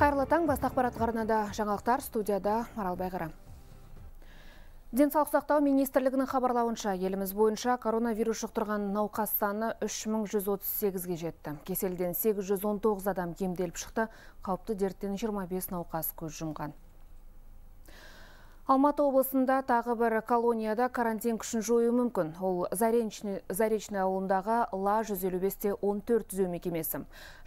Қайырлы таң, басты ақпарат арнада жаңалықтар, студияда Марал Байғара. Денсаулық сақтау министрлігінің хабарлауынша, еліміз бойынша коронавирус жұқтырған науқас саны 3138-ге жетті. Кеселден 819 адам емделіп шықты, қауіпті дерттен 25 науқас көз жұмған. Алматы облысында тағы бір колонияда карантин күшін жою мүмкін. Ол Заречный ауылындағы Ла-155-те 14 түзеу мекемесі.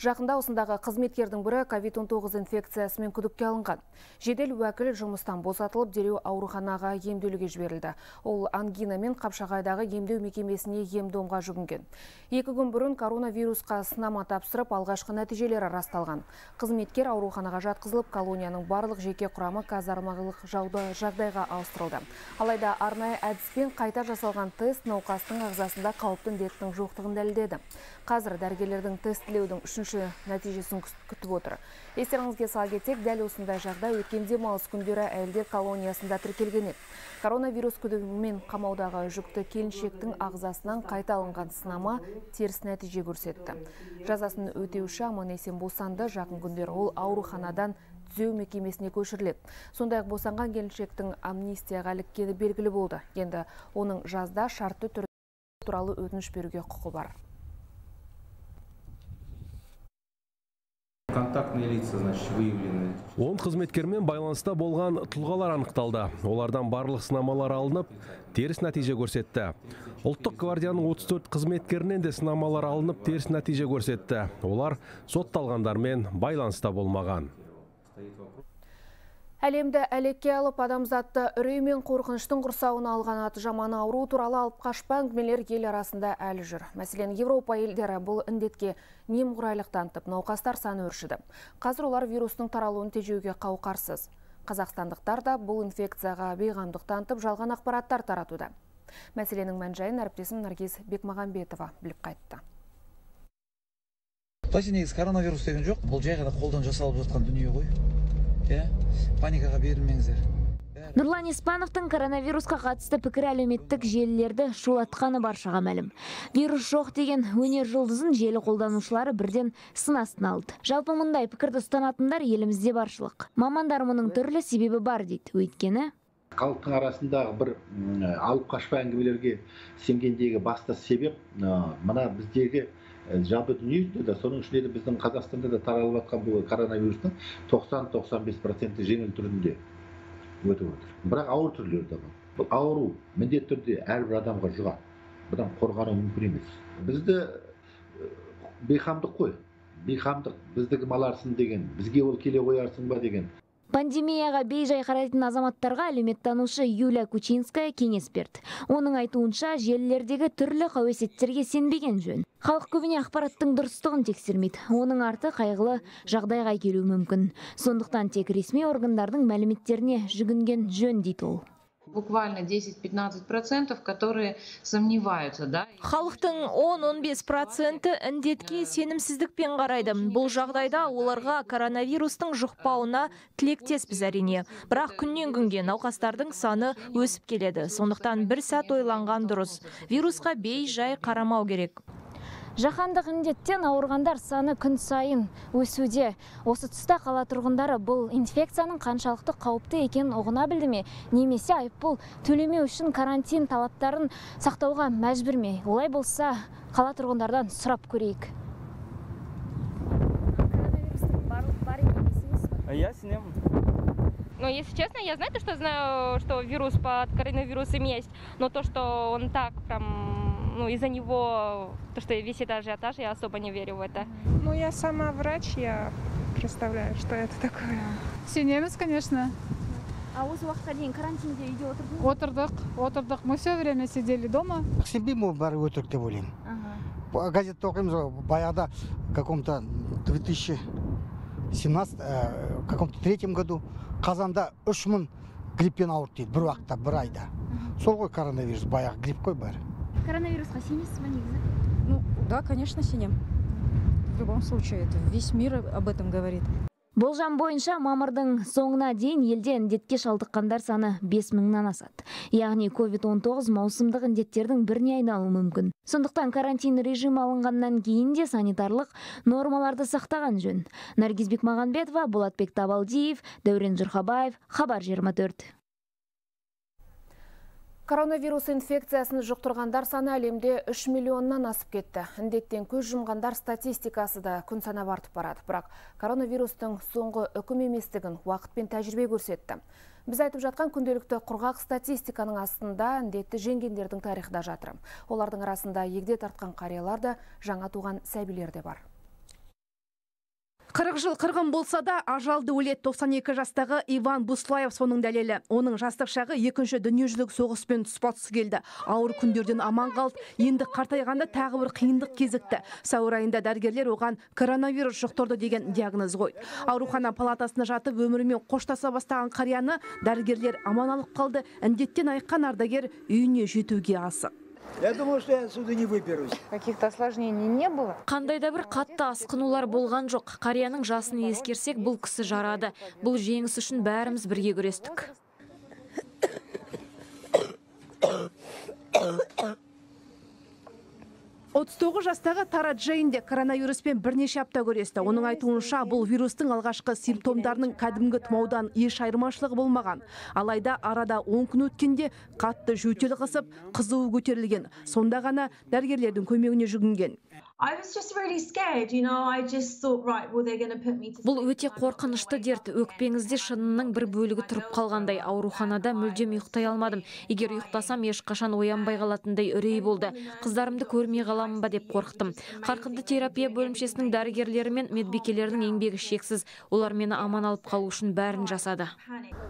Жақында осындағы қызметкердің бірі COVID-19 инфекциясымен күдікке алынған. Жедел уәкіл жұмыстан босатылып, дереу ауруханаға емделуге жіберілді. Ол ангина мен Қапшағайдағы емдеу мекемесіне ем-домға жүгінген. 2 күн бұрын коронавирусқа сынама тапсырып, алғашқы нәтижелері расталған. Қызметкер ауруханаға жатқызылып, колонияның барлық жеке құрамы казармалық жағдайға ауыстырылды. Алайда арнайы әдіспен қайта жасалған тест науқастың ағзасында қауіпті індеттің жоқтығын дәлелдеді. Қазір дәрігерлердің тестілеудің 3-ші нәтижесін күтіп отыр. Естеріңізге сала кетсек, дәл осындай жағдай өткен демалыс күндері әйелдер колониясында тіркелген еді. Коронавирус күдігімен қамаудағы жүкті келіншектің ағзасынан қайта алынған сынама теріс нәтиже көрсетті. Жазасын өтеуші аман-есен босанды, жақын күндері ол ауруханадан түзеу мекемесіне көшіріледі. Сондай-ақ босанған келіншектің амнистияға іліккені белгілі болды. Енді оның жазда шартты түрде туралы өтініш беруге құқы бар. Контактные лица, значит, выявлены. 10 қызметкермен байланыста болған тұлғалар анықталды. Олардан барлық сынамалар алынып, теріс нәтиже көрсетті. Ұлттық гвардияның 34 қызметкерінен де сынамалар алынып, теріс нәтиже көрсетті. Олар сотталғандармен байланыста болмаған. Әлемді әлекке алып, адамзатты үрей мен қорқыныштың құрсауына алған аты жаман ауру туралы алып қашпа әңгімелер ел арасында әлі жүр. Мәселен, Европа елдері бұл індетке немқұрайлық танытып, науқастар саны өршіді. Қазір олар вирустың таралуын тежеуге қауқарсыз. Қазақстандықтар да бұл инфекцияға бейғамдық танытып, жалған ақпараттар таратуда. Мәселенің мән-жайын әріптесім Наргиз Бекмағамбетова біліп қайтты. Негізі коронавирус деген жоқ, бұл жай ғана қолдан жасалып жатқан дүние ғой. Паникаға берілмеңіздер. Нұрлан Испановтың коронавирусқа қатысты пікір әлеуметтік желілерді шулатқаны баршаға мәлім. Вирус жоқ деген өнер жұлдызын желі қолданушылары бірден сын астына алды. Жалпы мұндай пікірді ұстанатындар елімізде баршылық. Мамандар мұның түрлі себебі бар дейді. Өйткені халықтың арасындағы бір алып қашпа әңгімелерге сенгендегі басты себеп мына біздегі жалпы дүниежүзінде, соның ішінде де біздің Қазақстанда да таралып жатқан бұл коронавирустың 90-95% жеңіл түрінде өтіп отыр. Бірақ ауыр түрлері де бар. Бұл ауру міндетті түрде әрбір адамға жұғады. Бұдан қорғану мүмкін емес. Бізді бейқамдық қой. Бейқамдық бізді кім аларсың деген, бізге ол келе қоярсың ба деген. Пандемияға бей-жай қарайтын азаматтарға әлеуметтанушы Юлия Кучинская кеңес берді. Оның айтуынша, желілердегі түрлі қауесеттерге сенбеген жөн. Халық көбіне ақпараттың дұрыстығын тексермейді. Оның арты қайғылы жағдайға келуі мүмкін. Сондықтан тек ресми органдардың мәліметтеріне жүгінген жөн дейді ол. Буквально 10-15%, которые сомневаются, да? Халықтың 10-15% індетке сенімсіздікпен қарайды. Бұл жағдайда оларға коронавирустың жұқпауына тілектеспіз әрине. Бірақ күннен күнге науқастардың саны өсіп келеді. Сондықтан бір сәт ойланған дұрыс. Вирусқа бей-жай қарамау керек. Жаһандық індеттен ауырғандар саны күн сайын өсуде. Осы тұста қала тұрғындары бұл инфекцияның қаншалықты қауіпті екенін ұғына білді ме? Немесе айыппұл төлемеу үшін карантин талаптарын сақтауға мәжбүр ме? Олай болса, қала тұрғындардан сұрап көрейік. Я сенемін. Но если честно, я знаю, что вирус под коронавирусом есть, но то, что он так прям, из-за него, то, что весь этот ажиотаж, я особо не верю в это. Я сама врач, я представляю, что это такое. Сенеміз, конечно. А осы уақытқа дейін карантинде үйде отырдыңыз? Отырдық. Мы все время сидели дома. Сенбеймін, ол бәрі өтірік деп ойлаймын. Газетті оқимыз, баяғыда в каком-то 2017, каком-то 3 году Қазанда 3000 гриппен ауырды дейді, бір уақытта, бір айда. Сол ғой коронавирус, баяғы грипп қой бәрі. Коронавирусқа сенесіз бе негізі? Да, конечно, сенем. В любом случае, это весь мир об этом говорит. Болжам бойынша мамырдың соңына дейін елде індетке шалдыққандар саны 5000-нан асады. Яғни COVID-19 маусымдық індеттердің біріне айналуы мүмкін. Сондықтан карантин режимі алынғаннан кейін де санитарлық нормаларды сақтаған жөн. Наргиз Бекмағанбетова, Болатбек Табалдиев, Дәурен Жұрхабаев, Хабар 24. Коронавирус инфекциясын жұқтырғандар саны әлемде 3 миллионнан асып кетті. Індеттен көз жұмғандар статистикасы да күн санап артып барады. Бірақ коронавирустың соңғы үкім еместігін уақыт пен тәжірибе көрсетті. Біз айтып жатқан күнделікті құрғақ статистиканың астында індетті жеңгендердің тарихы да жатыр. Олардың арасында егде тартқан қариялар да, жаңа туған сәбилер де бар. 40 жыл қырғын болса да, ажалды өлет 92 жастағы Иван Буслаев соның дәлелі. Оның жастық шағы екінші дүниежүзілік соғыспен тұспа-тұс келді. Ауыр күндерден аман қалды, енді қартайғанда тағы бір қиындық кезікті. Сәуір айында дәрігерлер оған коронавирус жұқтырды деген диагноз қойды. Аурухана палатасына жатып өмірімен қоштаса бастаған қарияны дәрігерлер аман алып қалды. Індеттен айыққан ардагер үйіне жетуге асық. Я думал, что я отсюда не выберусь. Каких-то осложнений не было? Қандайда бір қатты асқынулар болған жоқ. Қарияның жасын ескерсек, бұл кісі жарады. Бұл жеңіс үшін бәріміз бірге күрестік. 39 жастағы Тара Джейн де коронавируспен бірнеше апта күресті. Оның айтуынша, бұл вирустың алғашқы симптомдарының кәдімгі тұмаудан еш айырмашылығы болмаған. Алайда арада 10 күн өткенде қатты жөтел қысып, қызуы көтерілген. Сонда ғана дәрігерлердің көмегіне жүгінген. Бұл өте қорқынышты дерт. Өкпеңізде шынының бір бөлігі тұрып қалғандай. Ауруханада мүлдем ұйықтай алмадым. Егер ұйықтасам, ешқашан оянбай қалатындай үрей болды. Қыздарымды көрмей қаламын ба деп қорықтым. Қарқынды терапия бөлімшесінің дәрігерлері мен медбикелердің еңбегі шексіз. Олар мені аман алып қалу үшін бәрін жасады.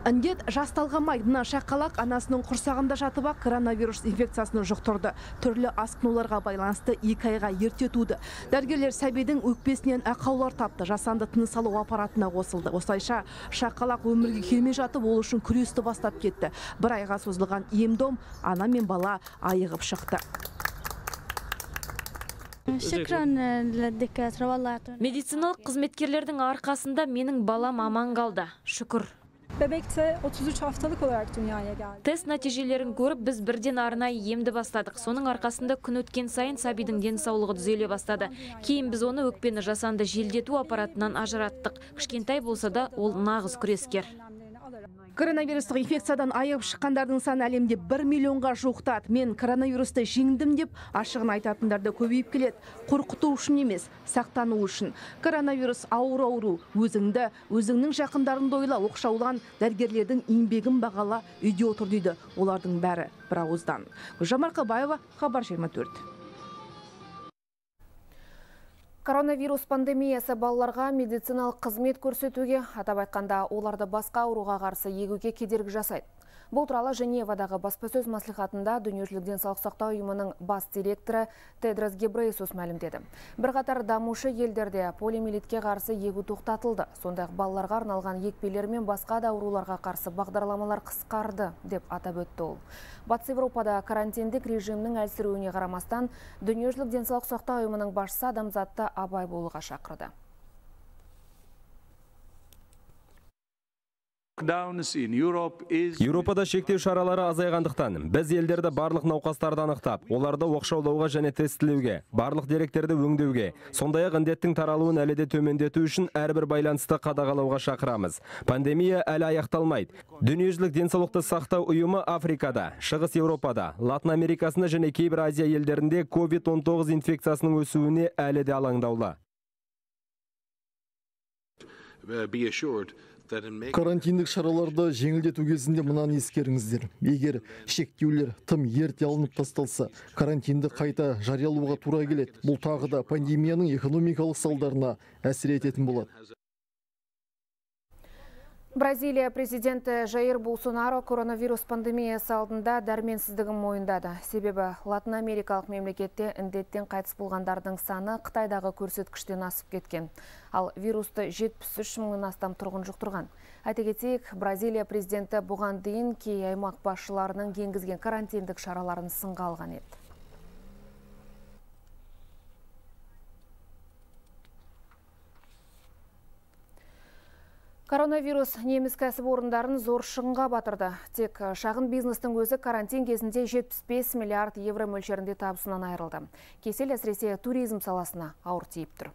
Індет жас талғамайды. Мына шақалақ анасының құрсағында жатып ақ коронавирус инфекциясын жұқтырды. Түрлі асқынуларға байланысты 2 айға ерте туды. Дәрігерлер сәбидің өкпесінен ақаулар тапты. Жасанды тыныс алу аппаратына қосылды. Осылайша шақалақ өмірге келмей жатып, ол үшін күресті бастап кетті. 1 айға созылған ем-дом ана мен бала айығып шықты. Медициналық қызметкерлердің арқасында менің балам аман қалды. Шүкір. Bebekte 33 haftalık olarak dünyaya geldi. Тест нәтижелерін көріп, біз бірден арнайы емді бастадық. Соның арқасында күн өткен сайын сәбидің денсаулығы түзеле бастады. Кейін біз оны өкпені жасанды желдету аппаратынан ажыраттық. Кішкентай болса да, ол нағыз күрескер. Коронавирустық инфекциядан айығып шыққандардың саны әлемде 1 миллионға жуықтады. Мен коронавирусты жеңдім деп ашығын айтатындарды көбейіп келеді. Қорқыту үшін емес, сақтану үшін. Коронавирус ауыр ауру, өзіңді, өзіңнің жақындарыңды ойла, оқшаулан, дәрігерлердің еңбегін бағала, үйде отыр дейді. Олардың бәрі бір ауыздан. Гүлжан Марқабаева, Хабар 24. Коронавирус пандемиясы балаларға медициналық қызмет көрсетуге, атап айтқанда оларды басқа ауруға қарсы егуге кедергі жасайды. Бұл туралы Женевадағы баспасөз маслихатында Дүниежүзілік денсаулық сақтау ұйымының бас директоры Тедрос Гебрейесус мәлімдеді. Бірқатар дамушы елдерде полиомиелитке қарсы егу тоқтатылды. Сондай-ақ балаларға арналған екпелер мен басқа да ауруларға қарсы бағдарламалар қысқарды деп атап өтті ол. Батыс Еуропада карантиндік режимнің әлсіруіне қарамастан Дүниежүзілік денсаулық сақтау ұйымының басшысы адамзатты абай болуға шақырды. Еуропада шектеу шаралары азайғандықтан, біз елдерді барлық науқастарды анықтап, оларды оқшаулауға және тестілеуге, барлық деректерді өңдеуге, сондай-ақ індеттің таралуын әлі де төмендету үшін әрбір байланысты қадағалауға шақырамыз. Пандемия әлі аяқталмайды. Дүниежүзілік денсаулықты сақтау ұйымы Африкада, Шығыс Еуропада, Латын Америкасында және кейбір Азия елдерінде COVID-19 инфекциясының өсуіне әлі де алаңдаулы. Карантиндік шараларды жеңілдету кезінде мынаны ескеріңіздер. Егер шектеулер тым ерте алынып тасталса, карантинді қайта жариялауға тура келеді. Бұл тағы да пандемияның экономикалық салдарына әсер ететін болады. Бразилия президенті Жаир Болсонаро коронавирус пандемиясы алдында дәрменсіздігін мойындады. Себебі Латын Америкалық мемлекетте індеттен қайтыс болғандардың саны Қытайдағы көрсеткіштен асып кеткен. Ал вирусты 73 мыңнан астам тұрғын жұқтырған. Айта кетейік, Бразилия президенті бұған дейін кей аймақ басшыларының енгізген карантиндік шараларын сынға алған еді. Коронавирус неміс кәсіпорындарын зор шығынға батырды. Тек шағын бизнестің өзі карантин кезінде 75 миллиард евро мөлшерінде табысынан айырылды. Кесел әсіресе туризм саласына ауыр тиіп тұр.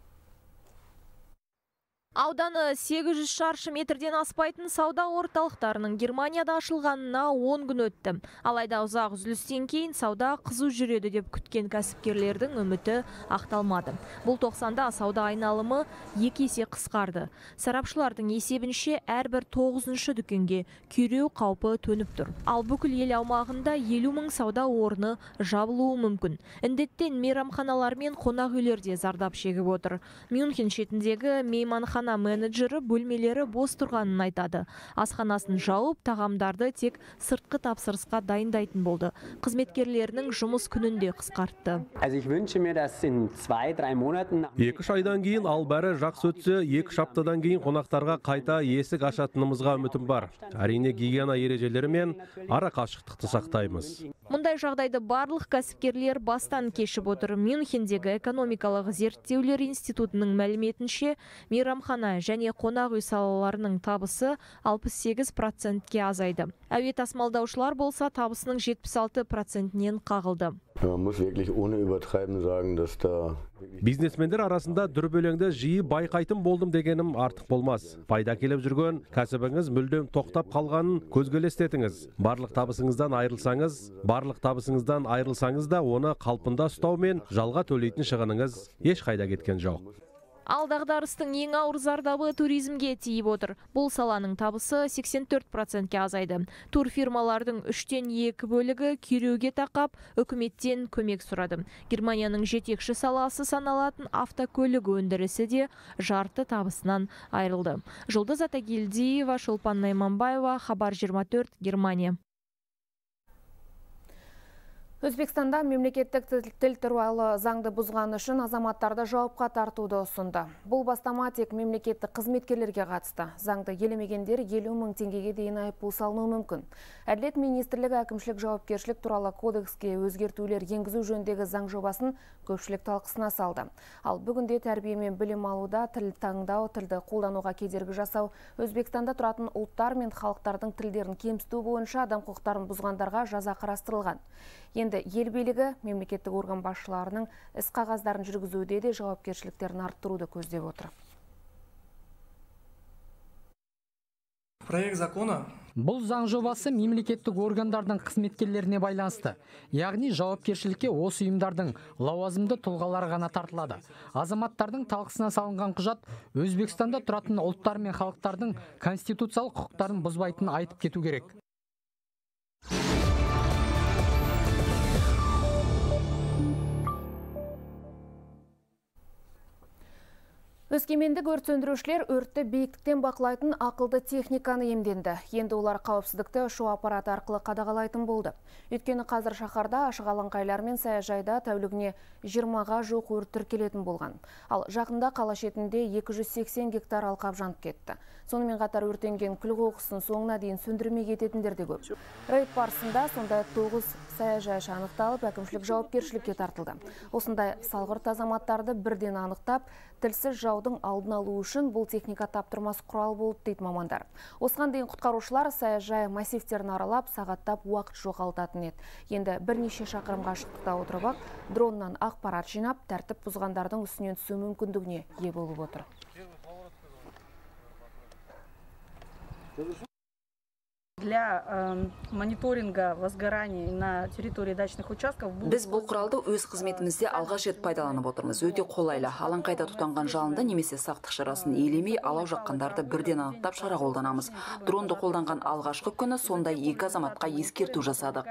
Ауданы 800 шаршы метрден аспайтын сауда орталықтарының Германияда ашылғанына 10 күн өтті. Алайда ұзақ үзілістен кейін сауда қызу жүреді деп күткен кәсіпкерлердің үміті ақталмады. Бұл 90-да сауда айналымы 2 есе қысқарды. Сарапшылардың есебінше әрбір 9-шы дүкенге күйреу қаупі төніп тұр. Ал бүкіл ел аумағында 50 мың сауда орны жабылуы мүмкін. Індеттен мейрамханалар мен қонақ үйлерде зардап шегіп отыр. Мюнхен шетіндегі мейманхана менеджері бөлмелері бос тұрғанын айтады. Асханасын жауып, тағамдарды тек сыртқы тапсырысқа дайындайтын болды. Қызметкерлерінің жұмыс күнінде қысқартты. 2-3 айдан кейін ал бәрі жақсы өтсе, 2 аптадан кейін қонақтарға қайта есік ашатынымызға үмітім бар. Әрине гигиена ережелері мен ара қашықтықты сақтаймыз. Мұндай жағдайды барлық кәсіпкерлер бастан кешіп отыр. Мюнхендегі экономикалық зерттеулер институтының мәліметінше, мейрамхана және қонақ үй салаларының табысы 68%-ке азайды. Әуе тасымалдаушылар болса табысының 76%-нен қағылды. Бизнесмендер арасында дүрбелеңді жиі байқайтын болдым дегенім артық болмас. Пайда келіп жүрген кәсібіңіз мүлдем тоқтап қалғанын көзге елестетіңіз. Барлық табысыңыздан айырылсаңыз да оны қалпында ұстау мен жалға төлейтін шығыныңыз еш қайда кеткен жоқ. Ал дағдарыстың ең ауыр зардабы туризмге тиіп отыр. Бұл саланың табысы 84%-ке азайды. Турфирмалардың 3/2 бөлігі күйреуге тақап, үкіметтен көмек сұрады. Германияның жетекші саласы саналатын автокөлік өндірісі де жарты табысынан айырылды. Жұлдыз Атагелдиева, Шолпан Найманбаева, Хабар 24, Германия. Өзбекстанда мемлекеттік тіл туралы заңды бұзғаны үшін азаматтарды жауапқа тартуды ұсынды. Бұл бастама тек мемлекеттік қызметкерлерге қатысты. Заңды елемегендер 50 мың теңгеге дейін айыппұл салынуы мүмкін. Әділет министрлігі әкімшілік жауапкершілік туралы кодекске өзгертулер енгізу жөніндегі заң жобасын көпшілік талқысына салды. Ал бүгінде тәрбие мен білім алуда тіл таңдау, тілді қолдануға кедергі жасау, Өзбекстанда тұратын ұлттар мен халықтардың тілдерін кемсіту бойынша адам құқықтарын бұзғандарға жаза қарастырылған. Енді ел билігі мемлекеттік орган басшыларының іс қағаздарын жүргізуде де жауапкершіліктерін арттыруды көздеп отыр. Проект закона Бұл заң жобасы мемлекеттік органдардың қызметкерлеріне байланысты. Яғни жауапкершілікке осы ұйымдардың лауазымды тұлғалары ғана тартылады. Азаматтардың талқысына салынған құжат Өзбекстанда тұратын ұлттар мен халықтардың конституциялық құқықтарын бұзбайтынын айтып кету керек. Өскемендік өрт сөндірушілер өртті биіктіктен бақылайтын ақылды техниканы емденді. Енді олар қауіпсіздікті ұшу аппараты арқылы қадағалайтын болды. Өйткені қазір шаһарда ашық алаңқайлар мен саяжайда тәулігіне 20-ға жуық өрт тіркелетін болған. Ал жақында қала шетінде 280 гектар алқап жанып кетті. Сонымен қатар өртенген күл қоқысын соңына дейін сөндірмей кететіндер де көп. Рейд барысында сондай 9 саяжай анықталып, әкімшілік жауапкершілікке тартылды. Осындай салғырт азаматтарды бірден анықтап, тілсіз жаудың алдын алу үшін бұл техника таптырмас құрал болды дейді мамандар. Осыған дейін құтқарушылар саяжай массивтерін аралап, сағаттап уақыт жоғалтатын еді. Енді бірнеше шақырым қашықтықта отырып, дроннан ақпарат жинап, тәртіп бұзғандардың үстінен түсу мүмкіндігіне ие болып отыр. Для мониторинга возгораний на территории дачных участков біз бұл құралды өз қызметімізде алғаш рет пайдаланып отырмыз. Өте қолайлы. Алаңқайда тұтанған жалынды немесе сақтық шарасын елемей, алау жаққандарды бірден анықтап шара қолданамыз. Дронды қолданған алғашқы күні сондай 2 азаматқа ескерту жасадық.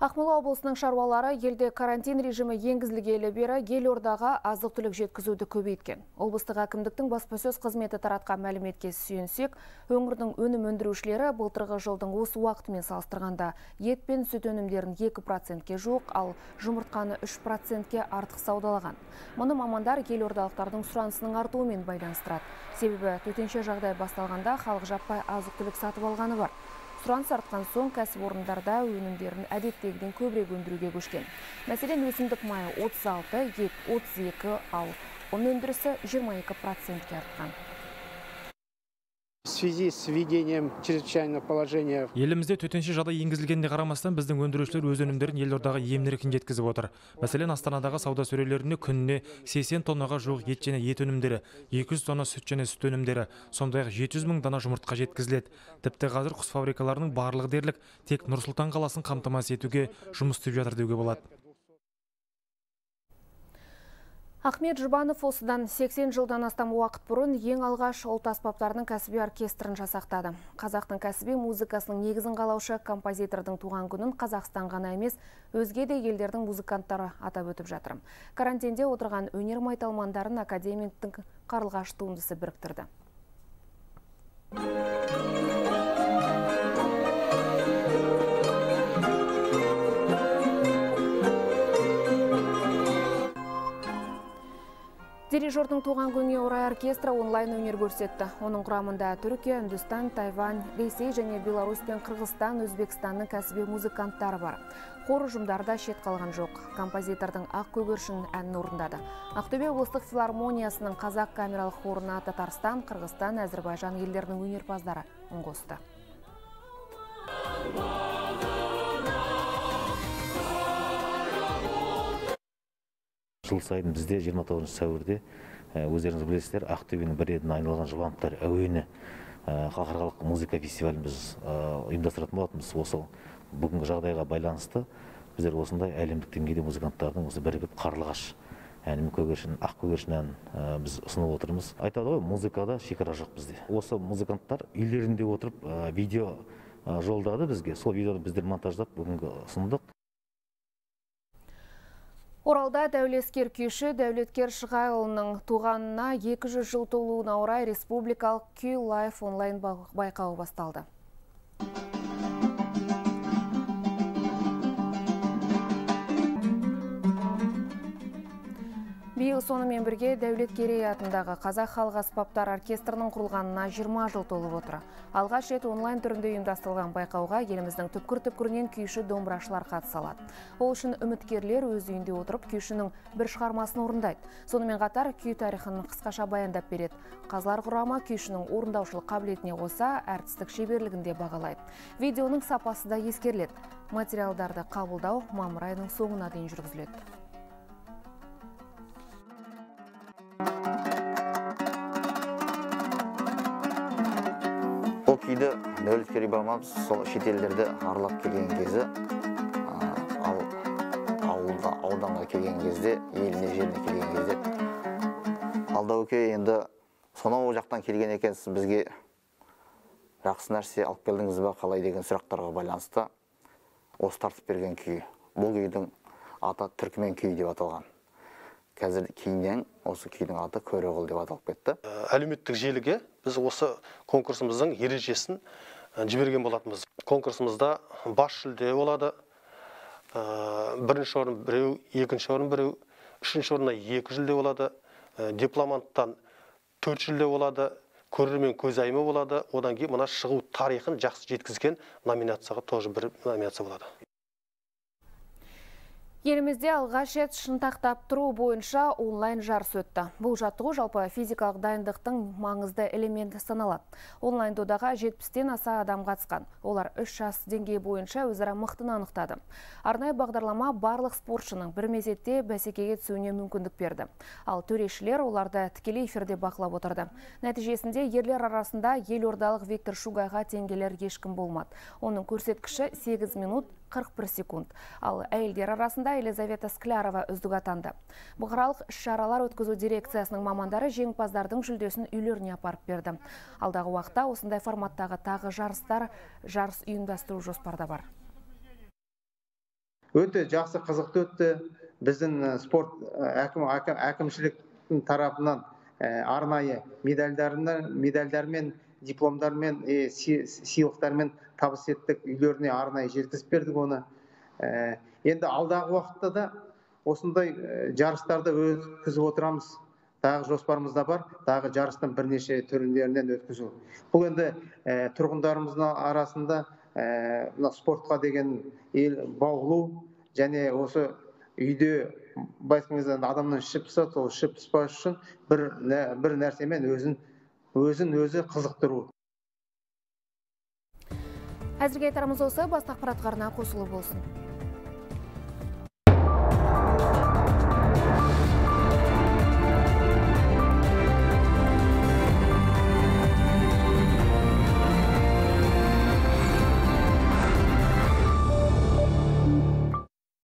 Ақмола облысының шаруалары елде карантин режимі енгізілгелі бері елордаға азық-түлік жеткізуді көбейткен. Облыстық әкімдіктің баспасөз қызметі таратқан мәліметке сүйенсек, өңірдің өнім өндірушілері былтырғы жылдың осы уақытымен салыстырғанда ет пен сүт өнімдерін 2%-ке жуық, ал жұмыртқаны 3%-ке артық саудалаған. Мұны мамандар елордалықтардың сұранысының артуымен байланыстырады. Себебі төтенше жағдай басталғанда халық жаппай азық-түлік сатып алғаны бар. Сұраныс артқан соң кәсіпорындарда өнімдерін әдеттегіден көбірек өндіруге көшкен. Мәселен, өсімдік майы 36, ет 32, ал ұн өндірісі 22%-ке артқан. В связи с введением чрезвычайного положения Елімізде төтенше жағдай енгізілгеніне қарамастан біздің өндірушілер өз өнімдерін елордаға емін-еркін жеткізіп отыр. Мәселен, Астанадағы сауда сөрелеріне күніне 80 тоннаға жуық ет және ет өнімдері, 200 тонна сүт және сүт өнімдері, сондай-ақ 700 мың дана жұмыртқа жеткізіледі. Тіпті қазір құс фабрикаларының барлығы дерлік тек Нұр-Сұлтан қаласын қамтамасыз етуге жұмыс істеп жатыр деуге болады. Ахмет Жұбанов осыдан 80 жылдан астам уақыт бұрын ең алғаш ұлт аспаптарының кәсіби оркестрін жасақтады. Қазақтың кәсіби музыкасының негізін қалаушы композитордың туған күнін Қазақстан ғана емес, өзге де елдердің музыканттары атап өтіп жатыр. Карантинде отырған өнер майталмандарын академиктің қарлығаш туындысы біріктірді. Дирижердің туған күніне орай оркестрі онлайн өнер көрсетті. Оның құрамында Түркия, Үндістан, Тайвань, Ресей және Беларусь пен Қырғызстан, Өзбекстанның кәсіби музыканттары бар. Хор ұжымдарда шет қалған жоқ. Композитордың ақ көгершін әнін орындады. Ақтөбе облыстық филармониясының қазақ камералық хорына Татарстан, Қырғызстан, Әзірбайжан елдерінің өнерпаздары үн қосты. Жыл сайын бізде 29 сәуірде өздеріңіз білесіздер, Ақтөбенің бір едін айналған Жұбановтар әуені халықаралық музыка фестивалін біз ұйымдастыратын болатынбыз. Осы бүгінгі жағдайға байланысты біздер осындай әлемдік деңгейде музыканттардың осы бірігіп қарлығаш әнін ақ көгершін әнін біз ұсынып отырмыз. Айтады ғой, музыкада шекара жоқ бізде. Осы музыканттар үйлерінде отырып видео жолдады бізге. Сол видеоны біздер монтаждап бүгінгі ұсындық. Оралда дәулескер күйші Дәулеткер Шығайұлының туғанына 200 жыл толуына орай республикалық күй лайф онлайн байқауы басталды. Биыл сонымен бірге Дәулеткерей атындағы Қазақ халық аспаптар оркестрінің құрылғанына 20 жыл толып отыр. Алғаш рет онлайн түрінде ұйымдастырылған байқауға еліміздің түпкір-түпкірінен күйші домбырашылар қатыса алады. Ол үшін үміткерлер өз үйінде отырып күйшінің бір шығармасын орындайды. Сонымен қатар күй тарихын қысқаша баяндап береді. Қазылар құрамы күйшінің орындаушылық қабілетіне қоса әртістік шеберлігінде бағалайды. Видеоның сапасы да ескеріледі. Материалдарды қабылдау мамыр айының соңына дейін жүргізіледі. Бұл күйді Дәулеткер Ибамов сол шетелдерді аралап келген кезі, ауданға келген кезде, еліне жеріне келген кезде, Алдауке енді сонау жақтан келген екенсіз, бізге жақсы нәрсе алып келдіңіз бе қалай деген сұрақтарға байланысты осы тартып берген күй. Бұл күйдің аты Түркімен күйі деп аталған. Қазір кейіннен осы күйдің аты Көреғұл деп аталып кетті. Әлеуметтік желіге біз осы конкурсымыздың ережесін жіберген болатынбыз. Конкурсымызда бас жүлде болады. Бірінші орын біреу, екінші орын біреу, үшінші орынна 2 жүлде болады. Дипломанттан 4 жүлде болады. Көрермен көзайымы болады. Одан кейін мына шығу тарихын жақсы жеткізген номинацияға тоже бір номинация болады. Елімізде алғаш рет шынтақтап тұру бойынша онлайн жарыс өтті. Бұл жаттығу жалпы физикалық дайындықтың маңызды элементі саналады. Онлайн додаға 70-тен аса адам қатысқан. Олар 3 жас деңгейі бойынша өзара мықтыны анықтады. Арнайы бағдарлама барлық спортшының бір мезетте бәсекеге түсуіне мүмкіндік берді. Ал төрешілер оларды тікелей эфирде бақылап отырды. Нәтижесінде ерлер арасында елордалық Виктор Шугайға теңгелер ешкім болмады. Оның көрсеткіші 8 минут 41 секунд. Ал әйелдер арасында Елизавета Склярова үздік атанды. Бұқаралық шаралар өткізу дирекциясының мамандары жеңімпаздардың жүлдесін үйлеріне апарып берді. Алдағы уақытта осындай форматтағы тағы жарыс ұйымдастыру жоспарда бар. Өте жақсы қызықты өтті. Біздің спорт әкімшіліктің тарапынан арнайы медальдармен, дипломдармен, сыйлықтармен табыс еттік, үйлеріне арнайы жеткізіп бердік оны. Енді алдағы уақытта да осындай жарыстарды өткізіп отырамыз. Тағы жоспарымызда бар, тағы жарыстың бірнеше түріндерінен өткізу. Бұл енді тұрғындарымыздың арасында спортқа деген баулу және осы үйде байсыңызда адамнан ішіп пысады, сол ішіп пыспас үшін бір нәрсемен өзін өзі қызықтыру. Әзірге айтарымыз осы, басқа ақпаратқа арна қосылу болсын.